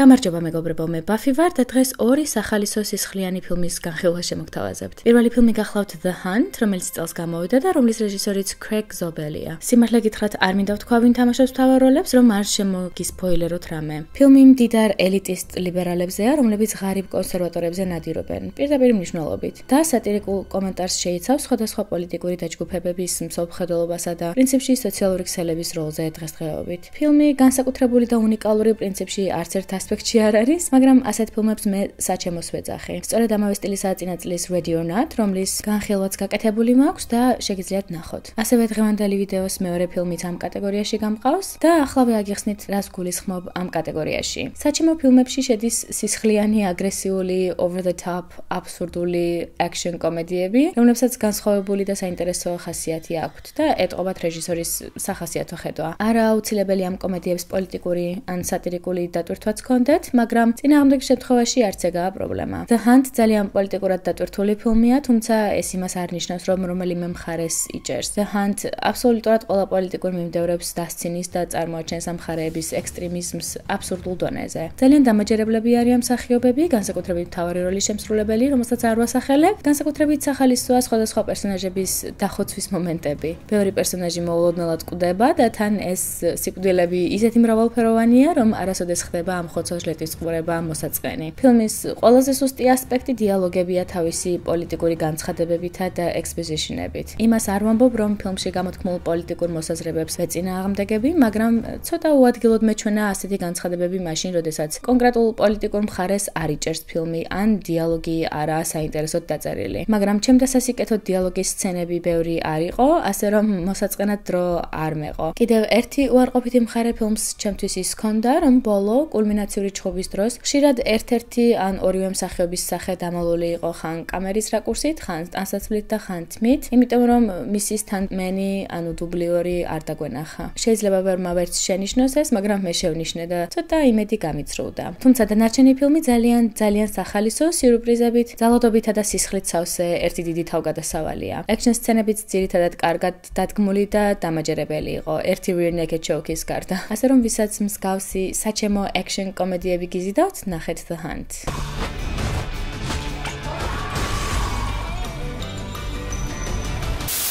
გამარჯობა მეგობრებო, მე ბაფი ვარ და დღეს ორი სახალისო სისხლიანი ფილმის განხილვა შემოგთავაზებთ. Პირველი ფილმი გახლავთ The Hunt, რომელიც წელს გამოვიდა და რომლის რეჟისორიც Craig Zobelია. Სიმართლე გითხრათ, არ მინდა ვთქვა, ვინ თამაშობს მთავარ როლებს, რომ არ შემოგისპოილეროთ რამე. ფილმი მდიდარ ელიტისტ ლიბერალებზეა, რომლებიც ღარიბ კონსერვატორებზე ნადირობენ, პირდაპირ მნიშვნელობით. და სატირიკულ კომენტარს შეიცავს სხვადასხვა პოლიტიკური დაჯგუფებების მსოფლმხედველობასა და პრინციპში სოციალური ქსელების როლზე დღესდღეობით. ფილმი განსაკუთრებული და უნიკალური პრინციპში არც ერთ ასპექტში არ არის, მაგრამ ასეთ ფილმებს მე საჩემოს ვეძახი. სწორედ ამავე სტილისაა წინაწლის Ready or Not, რომლის განხილვაც გაკეთებული მაქვს და შეგიძლიათ ნახოთ. ასევე დღევანდელი ვიდეოს მეორე ფილმიც ამ კატეგორიაში გამყავს და ახლავე აგიხსნით, რას გულისხმობ ამ კატეგორიაში. საჩემო ფილმებში შედის სისხლიანი, აგრესიული, over the top, აბსურდული action კომედიები, რომლებსაც განსხვავებული და საინტერესო ხასიათი აქვთ და ეტყობათ რეჟისორის სახასიათო ხედვა. არა აუცილებელი ამ კომედიებს პოლიტიკური ან სატირიკული დატვირთვაც ჰქონდეთ, მაგრამ წინააღმდეგ შემთხვევაში არც ეგაა პრობლემა. The Hunt ძალიან პოლიტიკურად დატვირთული ფილმია, თუმცა ეს იმას არ ნიშნავს, რომ რომელიმე მხარეს იჭერს. The Hunt აბსოლუტურად ყველა პოლიტიკურ მიმდევრებს დასცინის და წარმოაჩენს ამ მხარეების ექსტრემიზმს აბსურდულ დონეზე. ძალიან დამაჯერებლები არიან მსახიობები, განსაკუთრებით მთავარი როლის შემსრულებელი, რომელსაც არ ვასახელებ, განსაკუთრებით სახალისოა სხვადასხვა პერსონაჟების დახოცვის მომენტები. ბევრი პერსონაჟი მოულოდნელად კვდება და თან ეს სიკვდილები ისეთი მრავალფეროვანია, რომ არასოდეს ხდება ამ ხოცვა-ჟლეტის ყურება მოსაწყენი. ფილმის ყველაზე სუსტი ასპექტი დიალოგებია თავისი პოლიტიკური განცხადებებითა და exposition-ებით. იმას არ ვამბობ, რომ ფილმში გამოთქმულ პოლიტიკურ მოსაზრებებს ვეწინააღმდეგები, მაგრამ ცოტა უადგილოდ მეჩვენა ასეთი განცხადებები მაშინ, როდესაც კონკრეტულ პოლიტიკურ მხარეს არ იჭერს ფილმი ან დიალოგი არაა საინტერესოდ დაწერილი. მაგრამ ჩემ დასასიკეთოდ დიალოგის სცენები ბევრი არ იყო, ასე რომ მოსაწყენად დრო არ მეყო. კიდევ ერთი უარყოფითი მხარე ფილმს ჩემთვის ის ჰქონდა, რომ ბოლო კულმინაციური ჩხუბის დროს ხშირად ერთ-ერთი ან ორივე მსახიობის სახე დამალული იყო ხან კამერის რაკურსით, ხან ტანსაცმლით და ხან თმით, იმიტომ რომ მისის თანმენი, ანუ დუბლიორი არ დაგვენახა. შეიძლება ვერმა ვერც შენიშნოს ეს, მაგრამ მე შევნიშნე და ცოტა იმედი გამიწრუდა. თუმცა დანარჩენი ფილმი ძალიან სახალისო, სიურპრიზებით, ძალადობითა და სისხლით სავსე ერთი დიდი თავგადასავალია. Action სცენებიც ძირითადად კარგად დადგმული და დამაჯერებელი იყო, ერთი rear naked choke-ის გარდა. ასე რომ ვისაც მსგავსი საჩემო action კომედიები გიზიდავთ, ნახეთ The Hunt.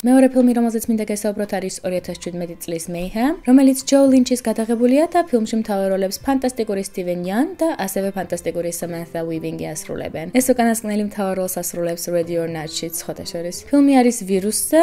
მეორე ფილმი, რომელზეც მინდა გესაუბროთ, არის 2017 წლის Mayhem, რომელიც Joe Lynch-ის გადაღებულია და ფილმში მთავარ როლებს ფანტასტიკური Steven Yeun და ასევე ფანტასტიკური Samantha Weaving-ი ასრულებენ. ეს უკანასკნელი მთავარ როლს ასრულებს Ready or Not-შიც ხოთა შორის. ფილმი არის ვირუსზე,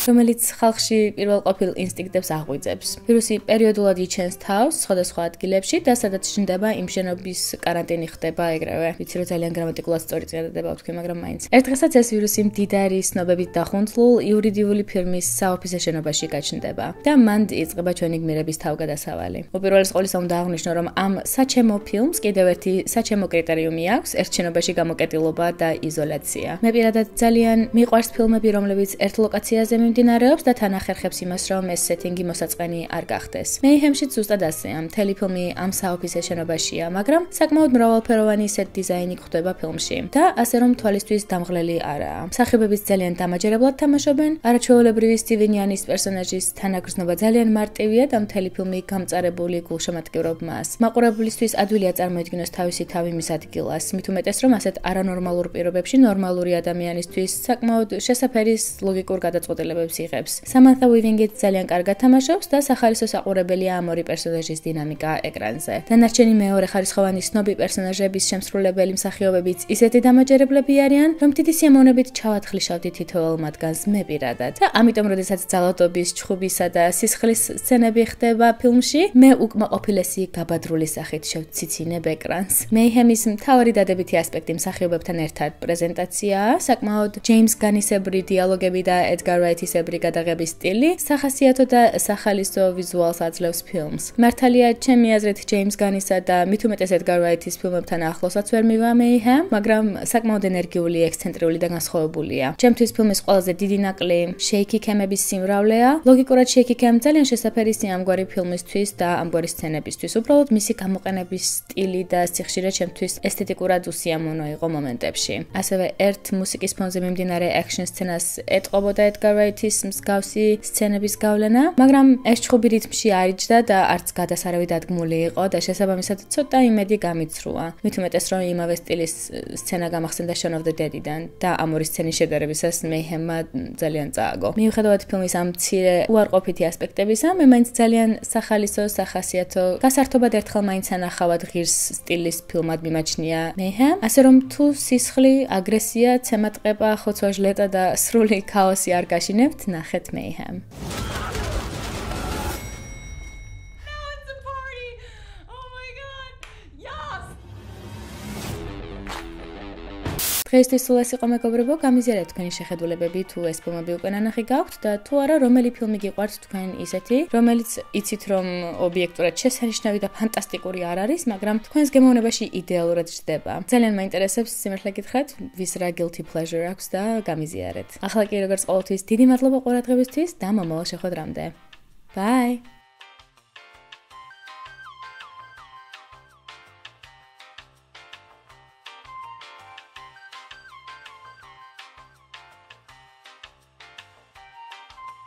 რომელიც ხალხში პირველყოფილ ინსტინქტებს აღვიძებს. ვირუსი პერიოდულად იჩენს თავს სხვადასხვა ადგილებში და სადაც ჩნდება იმ შენობის каранტინი ხდება ეგრევე. ვიცი რომ ძალიან გრამატიკულად სწორი წინადადება ვთქვი, მაგრამ მაინც. ერთ დღესაც ეს ვირუსი მდიდარი ცნობებით დახუნძლულ იურიდიული ფირმის საოფისე შენობაში გაჩნდება და მან იწყება ჩვენი გმირების თავგადასავალი. უპირველეს ყოვლისა უნდა აღვნიშნო, რომ ამ საჩემო ფილმს კიდევ ერთი საჩემო კრიტერიუმი აქვს, ერთ შენობაში გამოკეტილობა და იზოლაცია. მე პირადად ძალიან მიყვარს ფილმები, რომლებიც ერთ ლოკაციაზე მიმდინარეობს და თან ახერხებს იმას, რომ ეს სეტინგი მოსაწყენი არ გახდეს. Mayhem-შიც ზუსტად ასეა. მთელი ფილმი ამ საოფისე შენობაშია, მაგრამ საკმაოდ მრავალფეროვანი set design-ი გვხვდება ფილმში და ასე რომ თვალისთვის დამღლელი არაა. მსახიობებიც ძალიან დამაჯერებლად თამაშობენ. არაჩვეულებრივი Steven Yeun-ის პერსონაჟის თანაგრძნობა ძალიან მარტივია და მთელი ფილმი გამწარებული გულშემატკივრობ მას. მაყურებლისთვის ადვილია წარმოედგინოს თავისი თავი მის ადგილას, მით უმეტეს რომ ასეთ არანორმალურ პირობებში ნორმალური ადამიანისთვის საკმაოდ შესაფერი ლოგიკურ გადაწყვეტილებებს იღებს. Samantha Weaving-იც ძალიან კარგად თამაშობს და სახალისო საყურებელია ამ ორი პერსონაჟის დინამიკა ეკრანზე. დანარჩენი მეორე ხარისხოვანი სნობი პერსონაჟების შემსრულებელი მსახიობებიც ისეთი დამაჯერებლები არიან, რომ დიდი სიამოვნებით ჩავათხრიშავდი თითოეულ მათგანს მე პირადად. და ამიტომ, როდესაც ძალადობის, ჩხუბისა და სისხლის სცენები ხდება ფილმში, მე უკმაყოფილესი გაბადრული სახით შევციცინებ ეკრანს. Mayhem-ის მთავარი დადებითი ასპექტი მსახიობებთან ერთად პრეზენტაციაა, საკმაოდ James Gunn-ისებრი დიალოგები და Edgar Wright-ისებრი გადაღების სტილი, სახასიათო და სახალისო ვიზუალს აძლევს ფილმს. მართალია, ჩემი აზრით James Gunn-ისა და მით უმეტეს Edgar Wright-ის ფილმებთან ახლოსაც ვერ მივა Mayhem, მაგრამ საკმაოდ ენერგიული, ექსცენტრიული და განსხვავებულია. ჩემთვის ფილმის ყველაზე დიდი ნაკლი shaky cam-ების სიმრავლეა. ლოგიკურად shaky cam ძალიან შესაფერისია ამგვარი ფილმისთვის და ამგვარი სცენებისთვის. უბრალოდ მისი გამოყენების სტილი და სიხშირე ჩემთვის ესთეტიკურად უსიამოვნო იყო მომენტებში. ასევე ერთ მუსიკის ფონზე მიმდინარე action სცენას ეტყობოდა Edgar Wright ღვთის მსგავსი სცენების გავლენა, მაგრამ ეს ჩხუბი რითმში არ იჯდა და არც გადასარავი დადგმული იყო და შესაბამისად ცოტა იმედი გამიცრუა. მით უმეტეს რომ იმავე სტილის სცენა გამახსენდა Shaun of the Dead-დან და ამ ორი სცენის შედარებისას Mayhem-მა ძალიან წააგო. მიუხედავად ფილმის ამ მცირე უარყოფითი ასპექტებისა, მე მაინც ძალიან სახალისო, სახასიათო, გასართობად ერთხელ მაინც ანახავად ღირს სტილის ფილმად მიმაჩნია Mayhem, ასე რომ თუ სისხლი, აგრესია, ცემატყება, ხოცვა-ჟლეტა და სრული ქაოსი არ გაშინებთ, ნახეთ Mayhem. დღეისთვის სულ ეს იყო მეგობრებო, გამიზიარეთ თქვენი შეხედულებები თუ ეს ფილმები უკვე ნანახი გაქვთ და თუ არა რომელი ფილმი გიყვართ თქვენ ისეთი, რომელიც იცით რომ ობიექტურად შესანიშნავი და ფანტასტიკური არ არის, მაგრამ თქვენს გემოვნებაში იდეალურად ჯდება. ძალიან მაინტერესებს სიმართლე გითხრათ, ვის რა guilty pleasure აქვს და გამიზიარეთ. ახლა კი როგორც ყოველთვის დიდი მადლობა ყურადღებისთვის და მომავალ შეხვედრამდე. Bye!